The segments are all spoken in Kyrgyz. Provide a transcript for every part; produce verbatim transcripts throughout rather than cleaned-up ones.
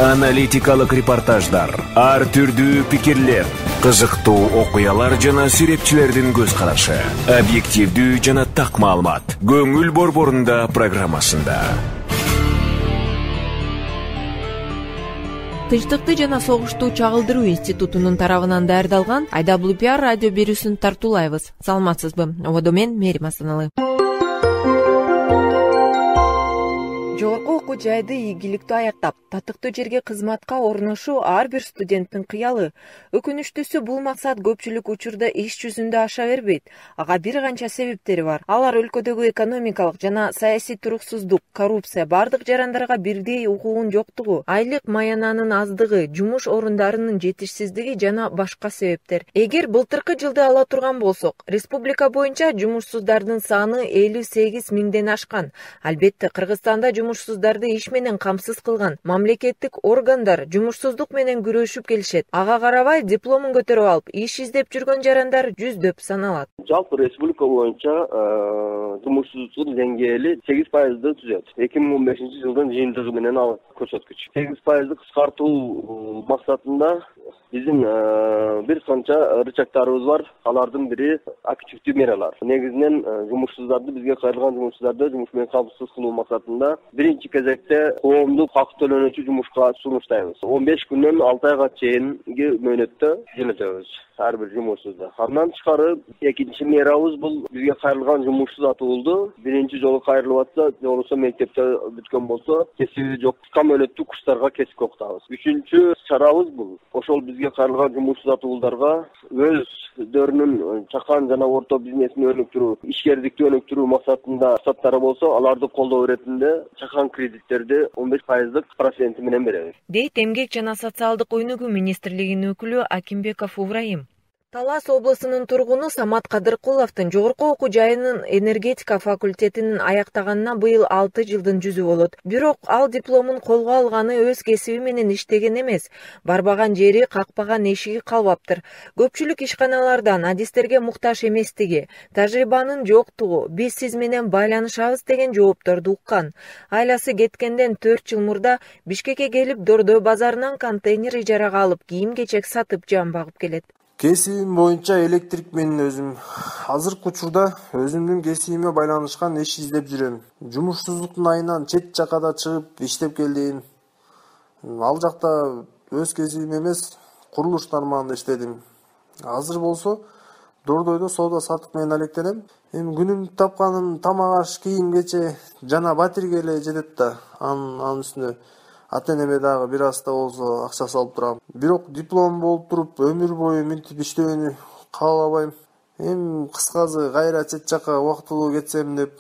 Аналитикалык репортаждар, ар түрдүү пикирлер, кызыктуу окуялар жана сүрөтчүлөрдүн көз карашы, объективдүү жана так маалымат. Көңүл борборунда программасында. Тынчтыкты жана согушту чагылдыруу институтунун тарабынан даярдалган ай дабл ю пи ар радио берүүсүн тартуулайбыз. Саламатсызбы? Ободо мен Мерим Асаналы. Жогорку окуу жайды ийгиликтүү аяктап, татыктуу жерге кызматка орношуу ар бир студенттин кыялы. Өкүнүчтүүсү бул максат көпчүлүк учурда иш жүзүндө аша бербейт. Ага бир канча себептери бар. Алар өлкөдөгү экономикалык жана саясий туруксуздук, коррупция, бардык жарандарга бирдей укугун жоктугу, айлык маянанын аздыгы, жумуш орундарынын жетишсиздиги жана башка себептер. Эгер былтыркы жылды ала турган болсок, республика боюнча жумушсуздардын саны элүү сегиз миңден ашкан. Албетте, Кыргызстанда жумушсуздарды иш менен камсыз кылган мамлекеттик органдар жумушсуздук менен күрөшүп келишет. Ага карабай дипломун көтөрүп алып, иш издеп жүргөн жарандар жүздөп саналат. Жалпы республика боюнча жумушсуздуктун деңгээли сегиз пайызды түзөт. эки миң он бешинчи жылдын жыйынтыгы менен ал көрсөткүч. сегиз пайызды кыскартуу максатында биздин бир канча рычагдарыбыз бар. Алардын бири активдүү мералар. Негизинен жумушсуздарды, бизге кайрылган жумушсуздарды жумуш менен камсыз кылуу максатында биринчи кезекте коомдук хак төлөнүүчү жумушка сунуштайбыз. он беш күндөн алты айга чейинки мөөнөттө жөнөтөбүз ар бир жумушсузду. Андан тышкары экинчи мерабыз бул бизге кайрылган жумушсуз атуулду биринчи жолу кайрылып атса, же болбосо мектепте бүткөн болсо, кесиби жок кыска мөөнөттүү курстарга кесипке окутабыз. Үчүнчү чарабыз бул ошол бизге кайрылган жумушсуз атуулдарга өздөрүнүн чакан жана орто бизнесин өнүктүрүү, ишкердикти өнүктүрүү максатында саттары болсо, аларды колдоо иретинде чакан кредиттерди он беш пайыздык проценти менен беребиз. Дейт Эмгек жана социалдык өнүгүү министрлигинин өкүлү Акимбеков Ибраим. Талас облусунун тургуну Самат Кадыркуловдун жогорку окуу жайынын энергетика факультетинин аяктаганына быйыл алты жылдын жүзү болот. Бирок ал дипломун колго алганы өз кесиби менен иштеген эмес. Барбаган жери, какпаган эшиги калбаптыр. Көпчүлүк ишканалардан адистерге муктаж эместиги, тажрыйбанын жоктугу, биз сиз менен байланышабыз деген жоопторду уккан. Айласы кеткенден төрт жыл мурда Бишкекке келип, Дордой базарынан контейнер ижарага алып, кийим-кечек сатып жан багып келет. Кесибим боюнча электрик мен өзүм. Азыркы учурда өзүмдүн кесибиме байланышкан иш издеп жүрөм. Жумушсуздуктун айынан чет жакада чыгып иштеп келдим. Ал жакта өз кесибим эмес, курулуш тармагында иштедим. Азыр болсо Дордойдо соода саттык менен алектенем. Эми күнүмдүк тапканым тамак аш, кийим-кече жана батирге эле жетет да. Анын үстүнө ата-энеме дагы бир аз да болсо акча салып турам. Бирок диплом болуп туруп өмүр бою мынтип иштөөнү каалабайм. Эми кыскасы кайра чет жакка убактылуу кетсем деп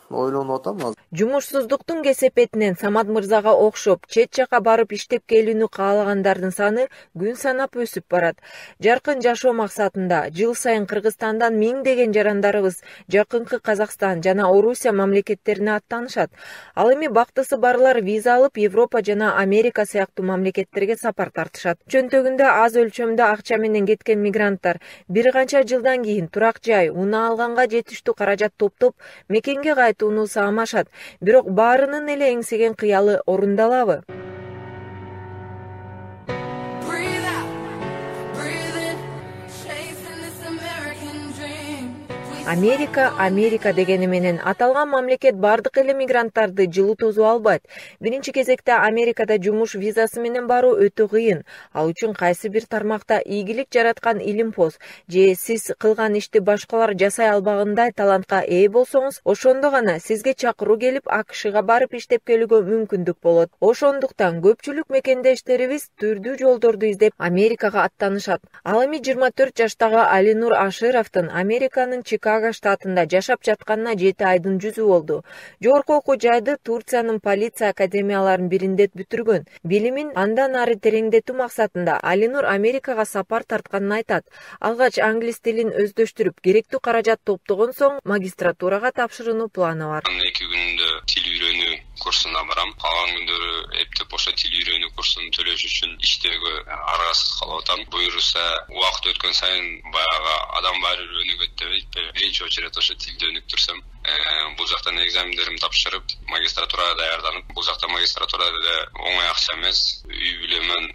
ойлонуп атам азыр. Жумушсуздуктун кесепетинен Самат мырзага окшоп чет жакка барып иштеп келүүнү каалагандардын саны күн санап өсүп барат. Жаркын жашоо максатында жыл сайын Кыргызстандан миңдеген жарандарыбыз жакынкы Казакстан жана Орусия мамлекеттерине аттанышат. Ал эми бактысы барлар виза алып Европа жана Америка сыяктуу мамлекеттерге сапар тартышат. Чөнтөгүндө аз өлчөмдө акча менен кеткен мигранттар бир канча жылдан кийин турак жай, унаа алганга жетиштүү каражат топтоп мекенге кайтууну саамашат. Бирок баарынын эле эңсеген кыялы орундалабы? Америка, Америка дегени менен аталган мамлекет бардык эле мигранттарды жылытуусу албайт. Биринчи кезекте Америкада жумуш визасы менен баруу өтө кыйын. Ал үчүн кайсы бир тармакта ийгилик жараткан илимпоз же сиз кылган ишти башкалар жасай албагандай талантка ээ болсоңуз, ошондо гана сизге чакыруу келип А К Шга барып иштеп келүүгө мүмкүндүк болот. Ошондуктан көпчүлүк мекендештерибиз түрдүү жолдорду издеп Америкага аттанышат. Ал эми жыйырма төрт жаштагы Алинур Ашировдун Американын Чикаго штатында жашап жатканына жети айдын жүзү болду. Жогорку окуу жайды Турциянын полиция академияларынын биринде бүтүргөн. Билимин андан ары тереңдетүү максатында Алинур Америкага сапар тартканын айтат. Алгач англис тилин өздөштүрүп, керектүү каражат топтогон соң магистратурага тапшырууну планы бар. эки күндө тил үйрөнүү курсуна барам. Калган күндөрү эптеп ошо тил үйрөнүү курсун төлөш үчүн иштөөгө аргасыз калып атам. Буюрса убакыт өткөн сайын баягы адам баары өнүгөт дебейт. Биринчи очередь ошо тилди өнүктүрсөм, бул жактан экзамендеримди тапшырып, магистратурага даярданып, бул жакта магистратурада деле оңой акча эмес, үй бүлөмөн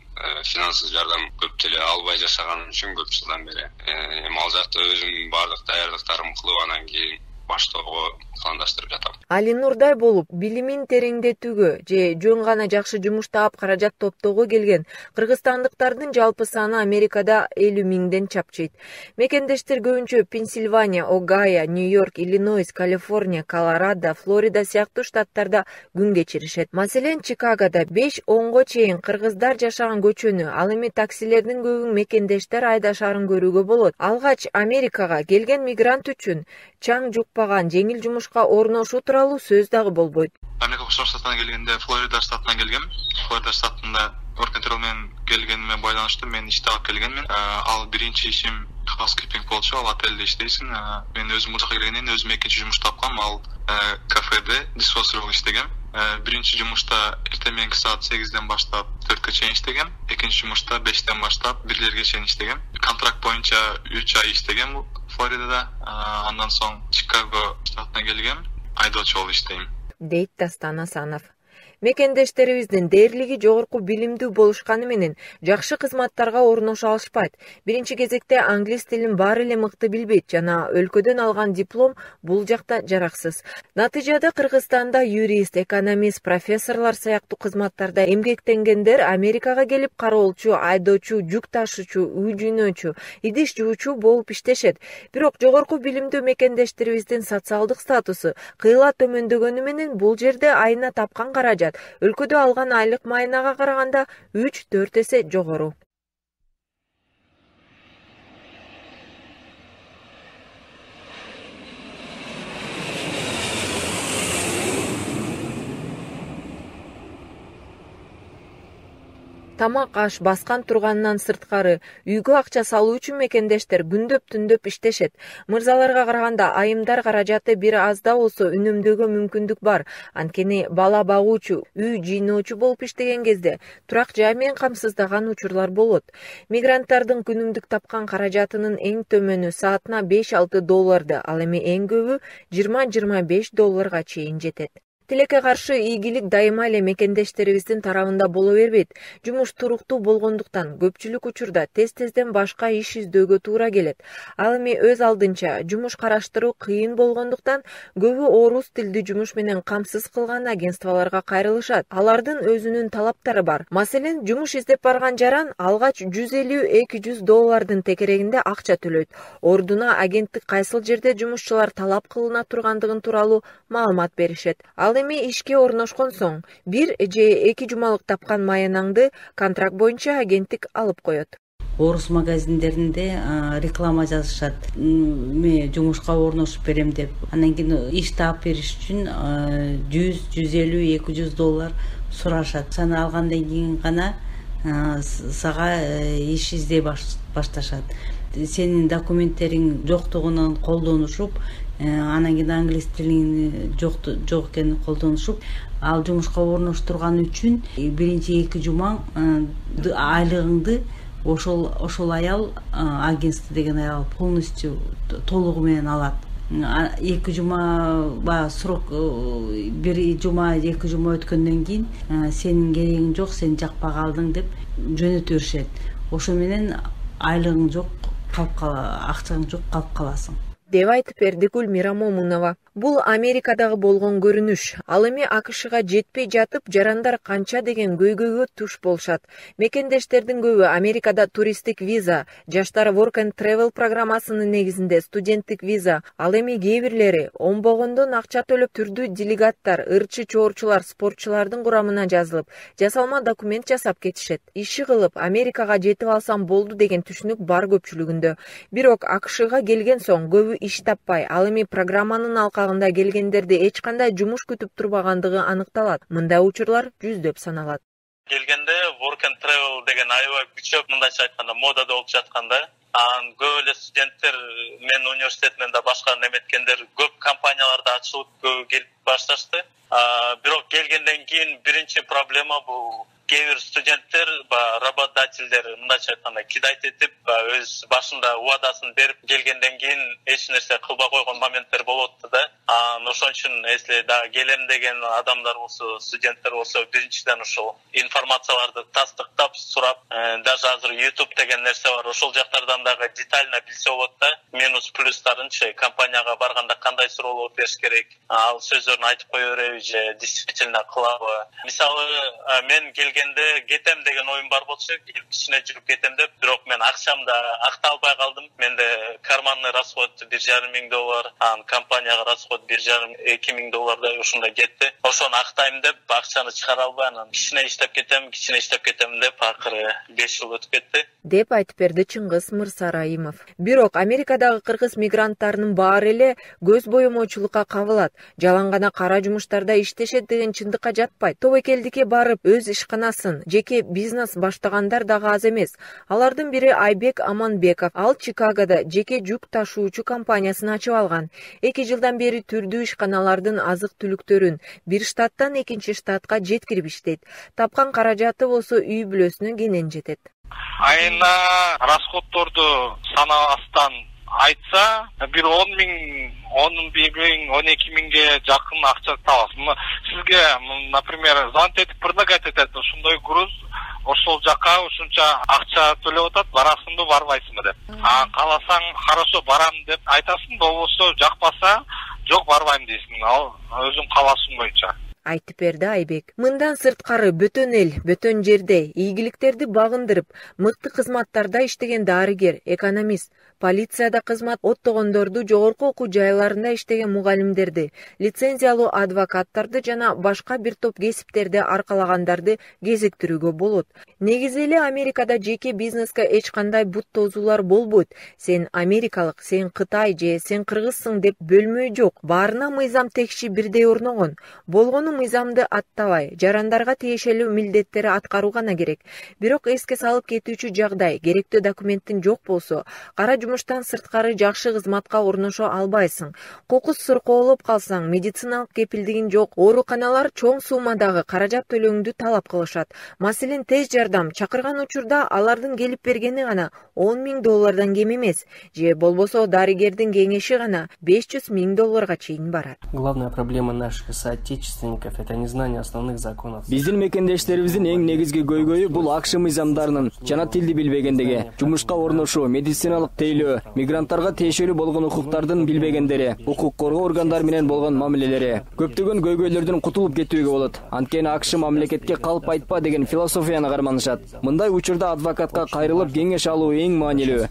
финансылык жардам көп деле албай жашаганым үчүн көп жылдан бери эми ал жакта өзүм баардык даярдыктарымды кылып анан кийин баштоого пландаштырып жатам. Али Нурдай болуп, билимин тереңдетүүгө же жөн гана жакшы жумуш таап каражат топтоого келген кыргызстандыктардын жалпы саны Америкада элүү миңден чапчыйт. Мекендештер көбүнчө Пенсильвания, Огайо, Нью-Йорк, Иллинойс, Калифорния, Колорадо, Флорида сыяктуу штаттарда күн кечиришет. Маселен, Чикагода беш онго чейин кыргыздар жашаган көчөнү, ал эми таксилердин көбүн мекендештер айдашаарын көрүүгө болот. Алгач Америкага келген мигрант үчүн чаң жукпаган жеңил жумушка орношуу тууралуу сөз дагы болбойт. Америка Кошмо Штатына келгенде Флорида штатынан келгем. Флорида штатында work-and-travel менен келгениме байланыштуу мен ишти алып келгенмин. Ал биринчи ишим housekeeping болчу, ал отелде иштейсиң. Мен өзүм бул жака келгенден кийин өзүм экинчи жумуш тапкам, ал кафеде дишвашер болуп иштегем. Биринчи жумушта эртең мененки саат сегизден баштап төрткө чейин иштегем. Экинчи жумушта бештен баштап бирлерге чейин иштегем. Контракт боюнча үч ай иштегем Флоридада. Андан соң Чикаго штатына келгем, айдоочу болуп иштейм, дейт Дастан Асанов. Мекендештерибиздин дээрлиги жогорку билимдүү болушканы менен жакшы кызматтарга орношо алышпайт. Биринчи кезекте англис тилин баары эле мыкты билбейт жана өлкөдөн алган диплом бул жакта жараксыз. Натыйжада Кыргызстанда юрист, экономист, профессорлор сыяктуу кызматтарда эмгектенгендер Америкага келип кароолчу, айдоочу, жүк ташуучу, үй жүйнөөчү, идиш жуучу болуп иштешет. Бирок жогорку билимдүү мекендештерибиздин социалдык статусу кыйла төмөндөгөнү менен бул жерде айына тапкан каражат өлкөдө алган айлык майынага караганда үч төрт эсе жогору. Тамак аш баскан турганынан сырткары үйгө акча салуу үчүн мекендештер күндөп түндөп иштешет. Мырзаларга караганда айымдар каражаты бир аз да болсо үнөмдөөгө мүмкүндүк бар. Анткени бала багуучу, үй жыйноочу болуп иштеген кезде турак жай менен камсыздаган учурлар болот. Мигранттардын күнүмдүк тапкан каражатынын эң төмөнү саатына беш алты долларды, ал эми эң көбү жыйырма жыйырма беш долларга чейин жетет. Тилекке каршы ийгилик дайыма эле мекендештерибиздин тарабында боло бербейт. Жумуш туруктуу болгондуктан көпчүлүк учурда тез-тезден башка иш издөөгө туура келет. Ал эми өз алдынча жумуш караштыруу кыйын болгондуктан көбү орус тилдүү жумуш менен камсыз кылган агентстволорго кайрылышат. Алардын өзүнүн талаптары бар. Маселен, жумуш издеп барган жаран алгач жүз элүү эки жүз доллардын текерегинде акча төлөйт. Ордуна агенттик кайсыл жерде жумушчулар талап кылына тургандыгын тууралуу маалымат беришет. Ал эми ишке орношкон соң бир же эки жумалык тапкан маянаңды контракт боюнча агенттик алып коет. Орус магазиндеринде реклама жазышат. Мен жумушка орношуп берем деп. Андан кийин иш таап бериш үчүн жүз, жүз элүү, эки жүз доллар сурашат. Саны алгандан кийин гана сага иш издей башташат. Сенин документтериң жоктугунан колдонушуп, анан кийин англис тилин жок жок экенин колдонушуп, ал жумушка орноштурган үчүн биринчи эки жума айлыгыңды ошол ошол аял агентство деген аял полностью толугу менен алат. Эки жума баягы срок, бир жума эки жума өткөндөн кийин сенин керегиң жок, сен жакпай калдың деп жөнөтө беришет. Ошо менен айлыгың жок, калып кала, акчаң жок, калып каласың, деп айтып берди Гүлмира Момунова. Бул Америкадагы болгон көрүнүш. Ал эми АКШга жетпей жатып, жарандар канча деген көйгөйгө туш болушат. Мекендештердин көбү Америкада туристтик виза, жаштар work and travel программасынын негизинде студенттик виза, ал эми кээ бирлери оңбогондон акча төлөп түрдүү делегаттар, ырчы чоорчулар, спортчулардын курамына жазылып, жасалма документ жасап кетишет. Иши кылып Америкага жетип алсам болду деген түшүнүк бар көпчүлүгүндө. Бирок АКШга келген соң көбү иш таппай, ал эми программанын алкагында келгендерди эч кандай жумуш күтүп турбагандыгы аныкталат. Мындай учурлар жүздөп саналат. Келгенде work and travel деген аябай күчөп, мындайча айтканда модада болуп жатканда, анан көп эле студенттер менин университетимен да башка неметкендер көп компанияларда ачылып келип башташты. Бирок келгенден кийин биринчи проблема бул кээ бир студенттер работодательдер мындайча айтканда кидайт этип өз башында убадасын берип келгенден кийин эч нерсе кылбай койгон моменттер болуп атты да. Анан ошон үчүн если дагы келем деген адамдар болсо, студенттер болсо, биринчиден ошол информацияларды тастыктап сурап, даже азыр YouTube деген нерсе бар, ошол жактардан дагы детально билсе болот да. Минус плюстарынчы компанияга барганда кандай суроолор бериш керек, ал сөздөрүн айтып кое береби же действительно кылабы. Мисалы мен келгенде кетем деген оюм бар болчу, кичине жүрүп кетем деп, бирок мен акчамды актай албай калдым. Менде карманный расход бир жарым миң доллар, анан компанияга расход бир жарым эки миң доллардай ушундай кетти. Ошону актайм деп акчаны чыгара албай, анан кичине иштеп кетем, кичине иштеп кетем деп акыры беш жыл өтүп кетти. Деп айтып берди Чыңгыз Мырсарайымов. Бирок Америкадагы кыргыз мигранттарынын баары эле көз боемоочулукка кабылат. Жалаң гана кара жумуштарда иштешет деген чындыкка жатпайт. Тобокелдикке барып өз ишканасын, жеке бизнес баштагандар дагы аз эмес. Алардын бири Айбек Аманбеков. Ал Чикагода жеке жүк ташуучу компаниясын ачып алган. эки жылдан бери түрдүү ишканалардын азык-түлүктөрүн бир штаттан экинчи штатка жеткирип иштейт. Тапкан каражаты болсо үй бүлөсүнө кенен жетет. Айына расходторду санабастан айтса, бир он миң, он миң, он эки миңге жакын акча табасыз. Сизге, например, звонить этип предлагать этет, ушундай груз ошол жака ушунча акча төлөп атат, барасыңбы, барбайсыңбы деп. А кааласаң, хорошо барам деп айтасың, болбосо жакпаса, жок барбайм дейсиң. Ал өзүң каалашың боюнча айтып берди Айбек. Мындан сырткары бөтөн эл, бөтөн жерде ийгиликтерди багындырып, мыкты кызматтарда иштеген дарыгер, экономист, полицияда кызмат оттогондорду, жогорку окуу жайларында иштеген мугалимдерди, лицензиялуу адвокаттарды жана башка бир топ кесиптерди аркалагандарды кезиктирүүгө болот. Негизи эле Америкада жеке бизнеске эч кандай бут тозуулар болбойт. Сен америкалык, сен Кытай же сен кыргызсың деп бөлмө жок. Баарына мыйзам текши бирдей орногон. Болгону мыйзамды аттабай, жарандарга тиешелүү милдеттери аткаруу гана керек. Бирок эске салып кетүүчү жагдай, керектүү документтин жок болсо, кара жумуштан сырткары жакшы кызматка орношо албайсың. Кокус суркоолоп калсаң, медициналык кепилдигин жок. Ооруканалар чоң суммадагы каражат төлөөңдү талап кылышат. Маселен, тез жардам чакырган учурда алардын келип бергени гана он миң доллардан кем эмес, же болбосо дарыгердин кеңеши гана беш жүз миң долларга чейин барат. Главная проблема наших соотечественников — это незнание основных законов. Биздин мекендештерибиздин эң негизги көйгөйү бул ак ш мыйзамдарынын жана тилди билбегендиги, жумушка орношуу, медициналык тейлөө, мигранттарга тиешелүү болгон укуктардын билбегендери, укук коргоо органдары менен болгон мамилелери. Көптөгөн көйгөйлөрдөн кутулуп кетүүгө болот. Анткени ак ш мамлекетке калп айтпа деген философияны карманышат. Мындай учурда адвокатка кайрылып кеңеш алуу эң маанилүү.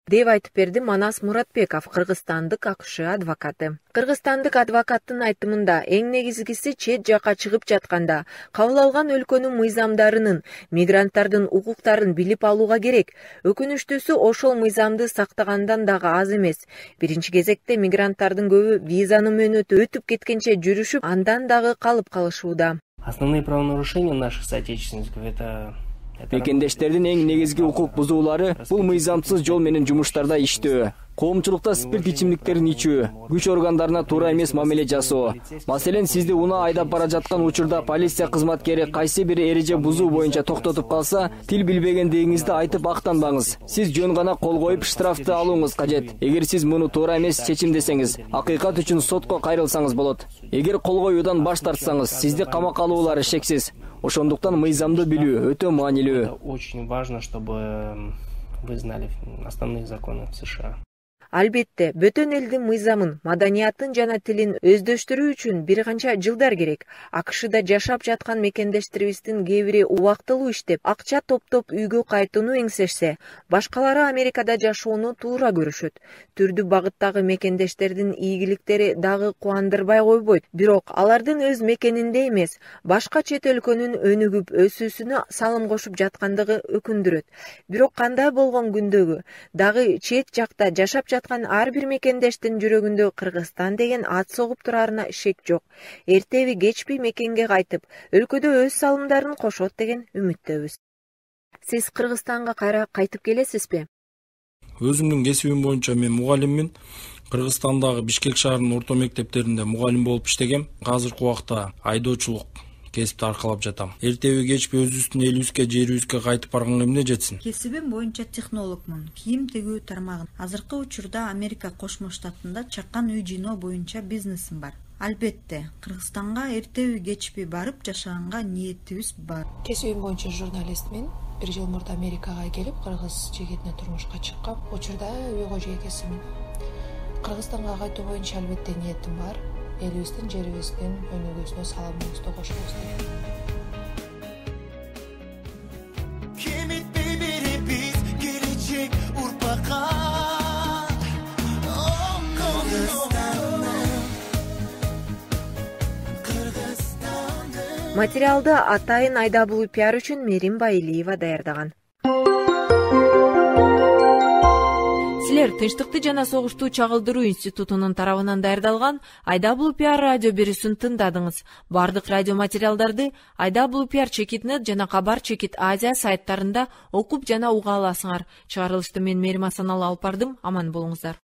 Деп айтып берди Манас Муратбеков, кыргызстандык ак ш адвокаты. Кыргызстандык адвокаттын айтымында эң негизгиси чет жака чыгып жатканда кабыл алган өлкөнүн мыйзамдарынын, мигранттардын укуктарын билип алууга керек. Өкүнүчтүүсү ошол мыйзамды сактагандан дагы аз эмес. Биринчи кезекте мигранттардын көбү визанын мөөнөтү өтүп кеткенче жүрүшүп, андан дагы калып калышууда. Основные правонарушения наших соотечественников — это Мекендештердин эң негизги укук бузуулары бул мыйзамсыз жол менен жумуштарда иштөө, коомчулукта спирт ичимдиктерин ичүү, күч органдарына туура эмес мамиле жасоо. Маселен, сизди унаа айдап бара жаткан учурда полиция кызматкери кайсы бир эреже бузуу боюнча токтотуп калса, тил билбегендигиңизди айтып актанбаңыз. Сиз жөн гана кол коюп штрафты алууңуз кажет. Эгер сиз муну туура эмес чечимдесеңиз, акыйкат үчүн сотко кайрылсаңыз болот. Эгер кол коюудан баш тартсаңыз, сизди камакка алуулары шексиз. Ошондуктан мыйзамды билүү өтө маанилүү. Очень важно, чтобы вы знали основные законы в США. Албетте, бөтөн элдин мыйзамын, маданиятын жана тилин өздөштүрүү үчүн бир канча жылдар керек. ак шда жашап жаткан мекендештерибиздин кээ бири убактылуу иштеп, акча топтоп үйгө кайтууну эңсешсе, башкалары Америкада жашоону туура көрүшөт. Түрдүү багыттагы мекендештердин ийгиликтери дагы кубандырбай койбойт. Бирок алардын өз мекенинде эмес, башка чет өлкөнүн өнүгүп өсүүсүнө салым кошуп жаткандыгы өкүндүрөт. Бирок кандай болгон күндөгү дагы чет жакта жашап жаткан ар бир мекендештин жүрөгүндө Кыргызстан деген ат согуп турарына шек жок. Эртеби кечпи мекенге кайтып, өлкөдө өз салымдарын кошот деген үмүттөбүз. Сиз Кыргызстанга кайра кайтып келесизби? Өзүмдүн кесибим боюнча мен мугалиммин. Кыргызстандагы Бишкек шаарынын орто мектептеринде мугалим болуп иштегем. Азыркы убакта айдоочулук кесипти аркалап жатам. Эртеби кечпи өзүбүздүн элибизге, жерибизге кайтып барганга эмне жетсин? Кесибим боюнча технологмун. Кийим тигүү тармагын. Азыркы учурда Америка Кошмо Штатында чакан үй жыйноо боюнча бизнесим бар. Албетте, Кыргызстанга эртеби кечпи барып жашаганга ниетибиз бар. Кесибим боюнча журналистмин. Бир жыл мурда Америкага келип, кыргыз жигитине турмушка чыккам. Учурда үй кожо экесимин. Кыргызстанга кайтуу боюнча албетте ниетим бар. Элибиздин, жерибиздин өнүгүүсүнө салымыбызды кошобуз дейм. Кемитпей беребиз келечек урпакка. Материалды атайын Айдабул пиар үчүн Мерим Байлиева даярдаган. Силер Тынчтыкты жана согушту чагылдыруу институтунун тарабынан даярдалган Айдабул пиар радио берүүсүн тыңдадыңыз. Бардык радио материалдарды Айдабул пиар чекитнет жана Кабар чекит Азия сайттарында окуп жана уга аласыңар. Чыгарылышты мен Мерим Асаналы алып бардым. Аман болуңуздар.